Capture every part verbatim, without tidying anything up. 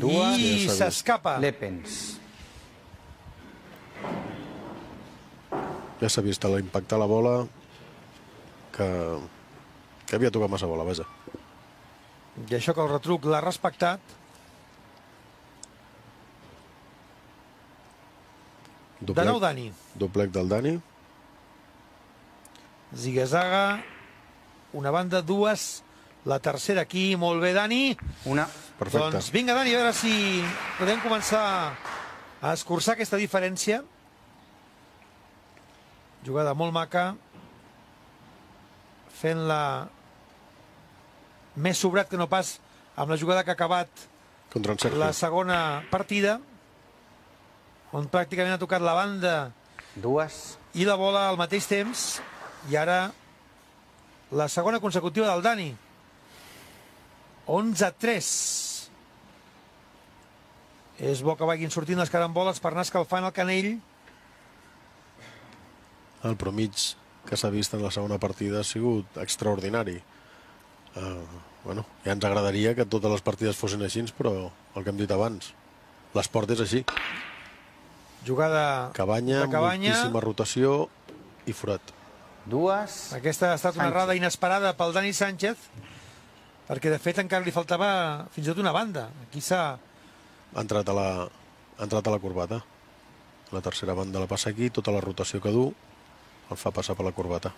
I s'escapa. Lepens. Ja s'ha vist a l'impactar la bola que, que havia tocat massa bola, vaja. I això que el retruc l'ha respectat. Doblec, de nou Dani. Doblec del Dani. Zigue-zaga. Una banda, dues. La tercera aquí. Molt bé, Dani. Una. Perfecte. Doncs vinga, Dani, a veure si podem començar a escurçar aquesta diferència. Jugada molt maca. Fent-la més sobrat que no pas amb la jugada que ha acabat Contra en Sergio. la segona partida, on pràcticament ha tocat la banda Dues. i la bola al mateix temps, i ara la segona consecutiva del Dani. onze a tres. És bo que vagin sortint les caramboles per anar escalfant el canell. El promig que s'ha vist en la segona partida ha sigut extraordinari. Uh, bueno, ja ens agradaria que totes les partides fossin així, però el que hem dit abans, l'esport és així. Jugada Cabanya, de Cabanya. moltíssima rotació i forat. Dues. Aquesta ha estat una Sánchez. errada inesperada pel Dani Sánchez, perquè de fet encara li faltava fins i tot una banda. Aquí s'ha... Ha entrat a la, ha entrat a la corbata. La tercera banda la passa aquí, tota la rotació que du el fa passar per la corbata.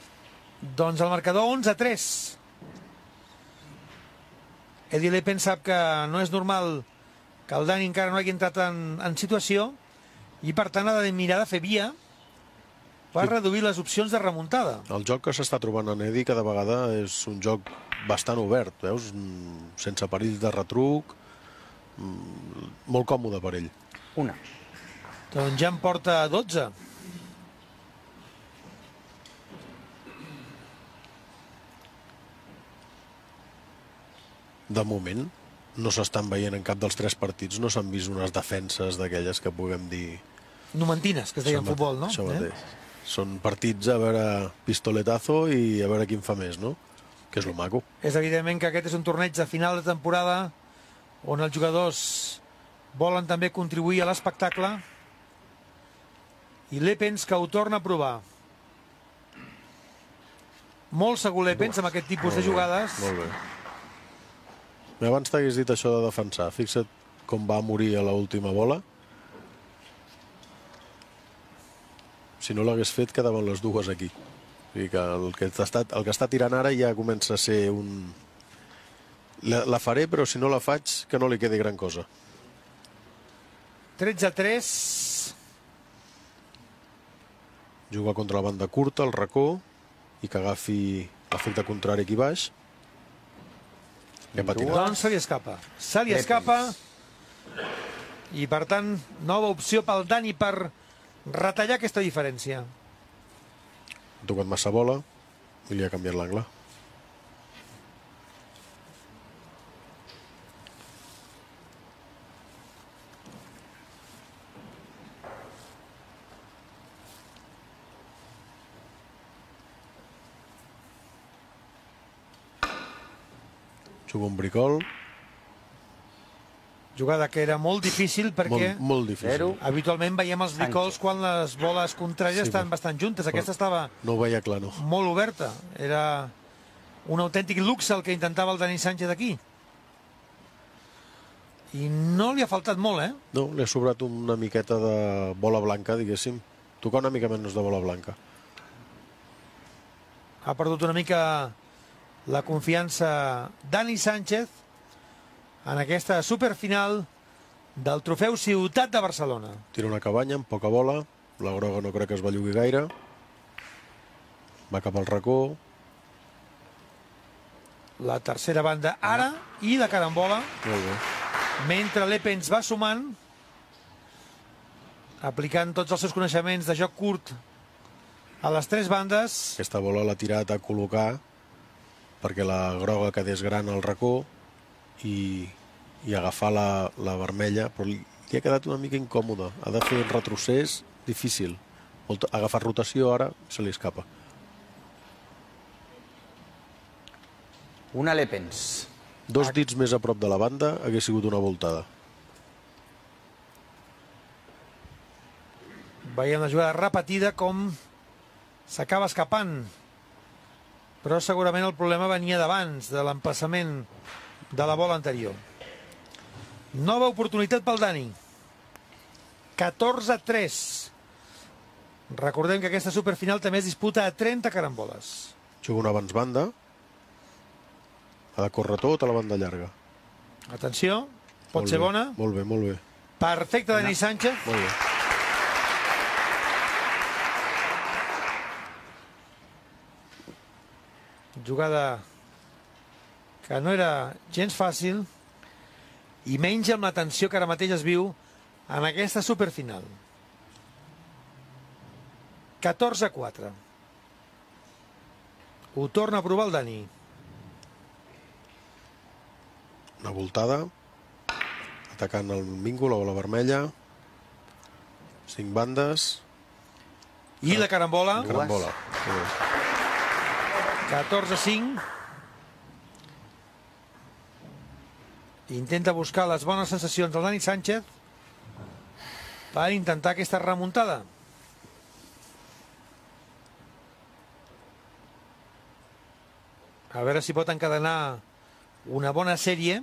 Doncs el marcador onze a tres. Eddie Lepen sap que no és normal que el Dani encara no hagi entrat en, en situació, i per tant ha de mirar de fer via per reduir les opcions de remuntada. El joc que s'està trobant en Eddie cada vegada és un joc bastant obert, veus? Sense perills de retruc, molt còmode per ell. Una. Doncs ja en porta dotze. De moment no s'estan veient en cap dels tres partits, no s'han vist unes defenses d'aquelles que puguem dir... Numantines, que es deia en futbol, no? Això mateix. Eh? Són partits a veure pistoletazo i a veure quin fa més, no? Que és lo maco. És evidentment que aquest és un torneig de final de temporada on els jugadors volen també contribuir a l'espectacle, i Lepens que ho torna a provar. Molt segur Lepens amb aquest tipus de jugades. Molt bé. Abans t'hagués dit això de defensar. Fixa't com va morir a l'última bola. Si no l'hagués fet, quedaven les dues aquí. O sigui que el que està, el que està tirant ara ja comença a ser un... La, la faré, però si no la faig, que no li quedi gran cosa. tretze a tres. Juga contra la banda curta, el racó, i que agafi l'efecte contrari aquí baix. I ha patinat. Doncs se li escapa. Se li escapa. I per tant, nova opció pel Dani per retallar aquesta diferència. Ha tocat massa bola i li ha canviat l'angle. Juga un bricol. Jugada que era molt difícil perquè Molt, molt difícil. Zero. habitualment veiem els bricols quan les boles contràries Sí, estan però- bastant juntes. Aquesta estava No ho veia clar, no. molt oberta. Era un autèntic luxe el que intentava el Dani Sánchez aquí. I no li ha faltat molt, eh? No, li ha sobrat una miqueta de bola blanca, diguéssim. Tocar una mica menys de bola blanca. Ha perdut una mica la confiança Dani Sánchez en aquesta superfinal del trofeu Ciutat de Barcelona. Tira una cabanya amb poca bola. La groga no crec que es bellugui gaire. Va cap al racó. La tercera banda ara i la carambola. Molt bé. Mentre Lepens va sumant, aplicant tots els seus coneixements de joc curt a les tres bandes. Aquesta bola l'ha tirat a col·locar perquè la groga quedés gran al racó i, i agafar la, la vermella, però li, li ha quedat una mica incòmode. Ha de fer un retrocés difícil. Molt, agafar rotació ara se li escapa. Una Lepens. Dos dits més a prop de la banda hagués sigut una voltada. Veiem la jugada repetida com s'acaba escapant. Però segurament el problema venia d'abans, de l'empassament de la bola anterior. Nova oportunitat pel Dani. catorze a tres. Recordem que aquesta superfinal també es disputa a trenta caramboles. Juga un abans banda. Ha de córrer tota la banda llarga. Atenció, pot Molt ser bé, bona. Molt bé, molt bé. Perfecte, Dani Sánchez. Molt bé. Jugada que no era gens fàcil i menys amb la tensió que ara mateix es viu en aquesta superfinal. catorze a quatre. Ho torna a provar el Dani. Una voltada. Atacant el mingo, la bola vermella. Cinc bandes. I la carambola. Carambola. catorze a cinc. Intenta buscar les bones sensacions del Dani Sánchez per intentar aquesta remuntada. A veure si pot encadenar una bona sèrie.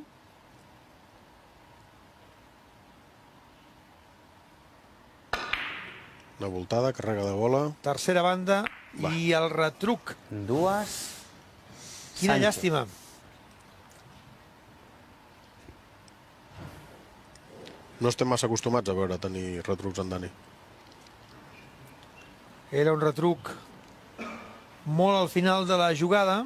Una voltada, carrega de bola. Tercera banda. Va. I el retruc. Dues. Quina Sánchez. llàstima. No estem massa acostumats a veure tenir retrucs en Dani. Era un retruc molt al final de la jugada.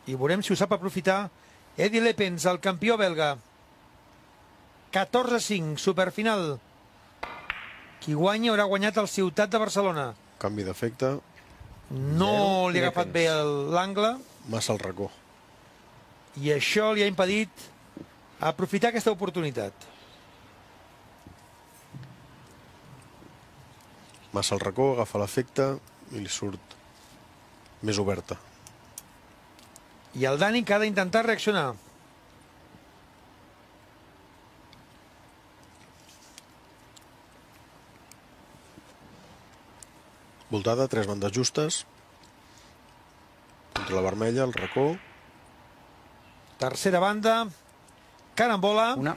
I veurem si ho sap aprofitar Edi Leppens, el campió belga. catorze a cinc, superfinal. Qui guanyi haurà guanyat el Ciutat de Barcelona. Canvi d'efecte. No li ha agafat bé l'angle. Massa al racó. I això li ha impedit aprofitar aquesta oportunitat. Massa al racó, agafa l'efecte i li surt més oberta. I el Dani que ha d'intentar reaccionar. Voltada, tres bandes justes. Contra la vermella, el racó. Tercera banda. Carambola. Una.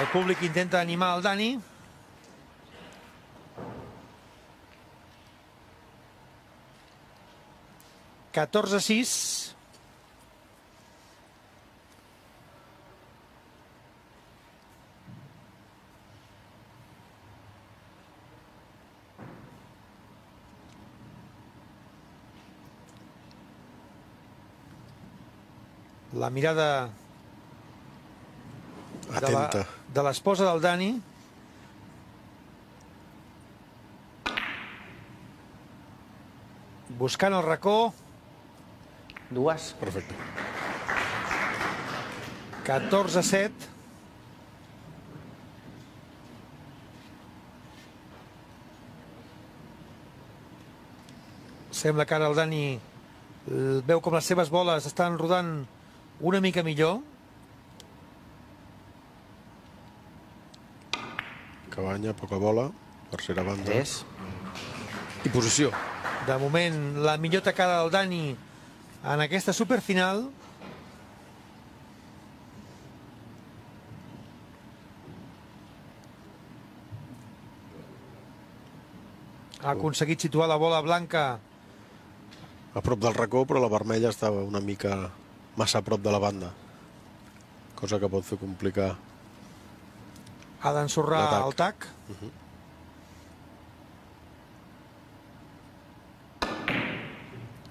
El públic intenta animar el Dani. catorze a sis. La mirada Atenta. de l'esposa del Dani. Buscant el racó. Dues. Perfecte. catorze a set. Sembla que ara el Dani veu com les seves boles estan rodant una mica millor. Cabanya, poca bola. Tercera banda. Tres. I posició. De moment, la millor tacada del Dani en aquesta superfinal. Ha aconseguit situar la bola blanca A prop del racó, però la vermella estava una mica massa a prop de la banda. Cosa que pot fer complicar. ha d'ensorrar L'atac. el tac. Uh-huh.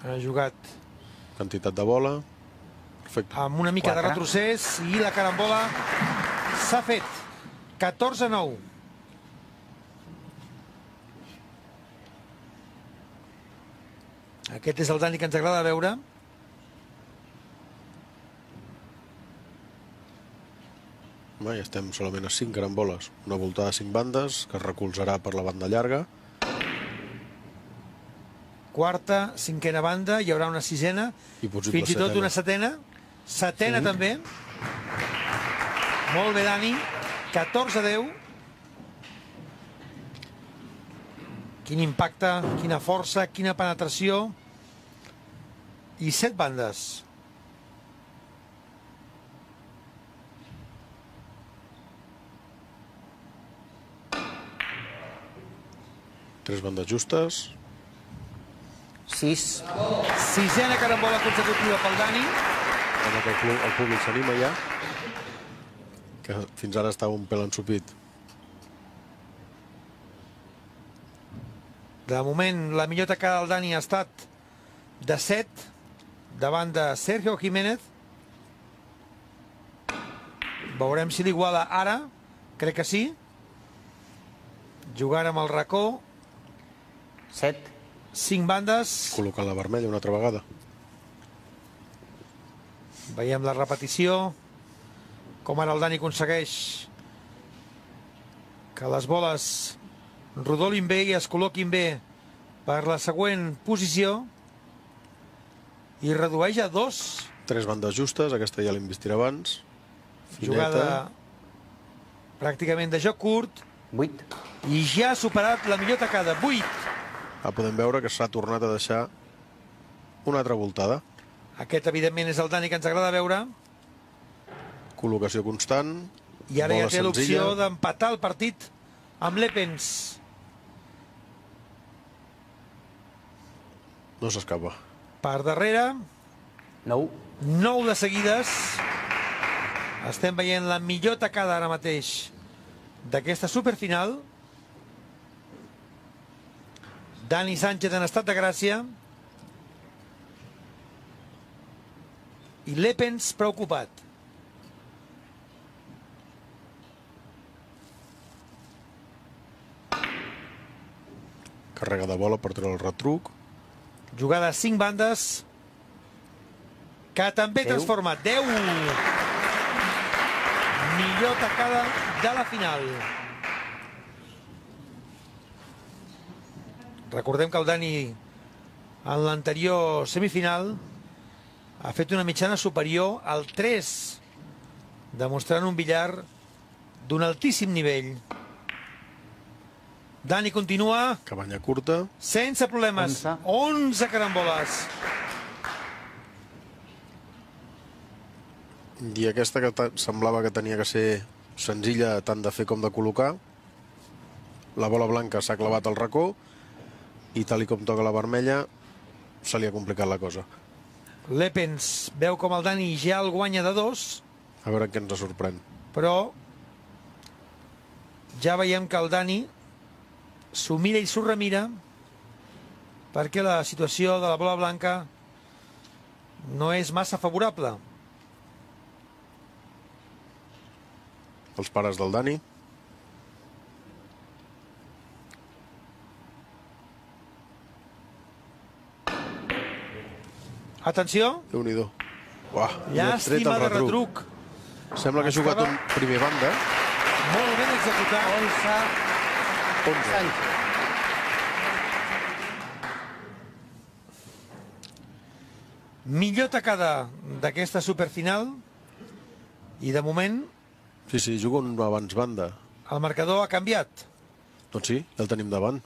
Ha jugat Quantitat de bola. Perfecte. amb una mica de Quatre. retrocés i la carambola s'ha fet. catorze a nou. Aquest és el Dani que ens agrada veure. Va, ja estem solament a cinc caramboles. Una voltada de cinc bandes que es recolzarà per la banda llarga. Quarta, cinquena banda, hi haurà una sisena, I possible fins i tot setena. una setena. Setena Cinc. també. Molt bé, Dani. catorze a deu. Quin impacte, quina força, quina penetració. I set bandes. Tres bandes justes. sis. Sisena carambola consecutiva pel Dani. Amb que el, el públic s'anima ja, que fins ara estava un pèl ensupit. De moment, la millor tacada del Dani ha estat de set, davant de Sergio Jiménez. Veurem si l'iguala ara. Crec que sí. Jugant amb el racó. set. Cinc bandes. Col·locant la vermella una altra vegada. Veiem la repetició. Com ara el Dani aconsegueix que les boles rodolin bé i es col·loquin bé per la següent posició. I redueix a dos. Tres bandes justes, aquesta ja l'investirà abans. Fineta. Jugada pràcticament de joc curt. vuit. I ja ha superat la millor tacada. vuit. Ah, podem veure que s'ha tornat a deixar una altra voltada. Aquest, evidentment, és el Dani que ens agrada veure. Col·locació constant. I ara ja té l'opció senzilla. d'empatar el partit amb l'Epens. No s'escapa. Per darrere, nou. nou de seguides. Estem veient la millor tacada ara mateix d'aquesta superfinal. Dani Sánchez en estat de gràcia. I l'Epens preocupat. Carrega de bola per treure el retruc. Jugada a cinc bandes que també Deu. transforma. deu. Millor tacada de la final. Recordem que el Dani en l'anterior semifinal ha fet una mitjana superior al tres, demostrant un billar d'un altíssim nivell. Dani continua Cabanya curta. sense problemes. Onze. onze caramboles. I aquesta que ta- semblava que tenia que ser senzilla tant de fer com de col·locar. La bola blanca s'ha clavat al racó i tal i com toca la vermella se li ha complicat la cosa. L'Epens veu com el Dani ja el guanya de dos, A veure què ens sorprèn. però ja veiem que el Dani s'ho mira i s'ho remira perquè la situació de la bola blanca no és massa favorable. Els pares del Dani. Atenció, Déu-n'hi-do. Uah, llàstima de retruc. Sembla que ha jugat Estava- un primer banda. Molt ben executat. onze. onze. Sánchez. Millor tacada d'aquesta superfinal i de moment Sí, sí, juga un abans banda. el marcador ha canviat. Doncs sí, ja el tenim davant.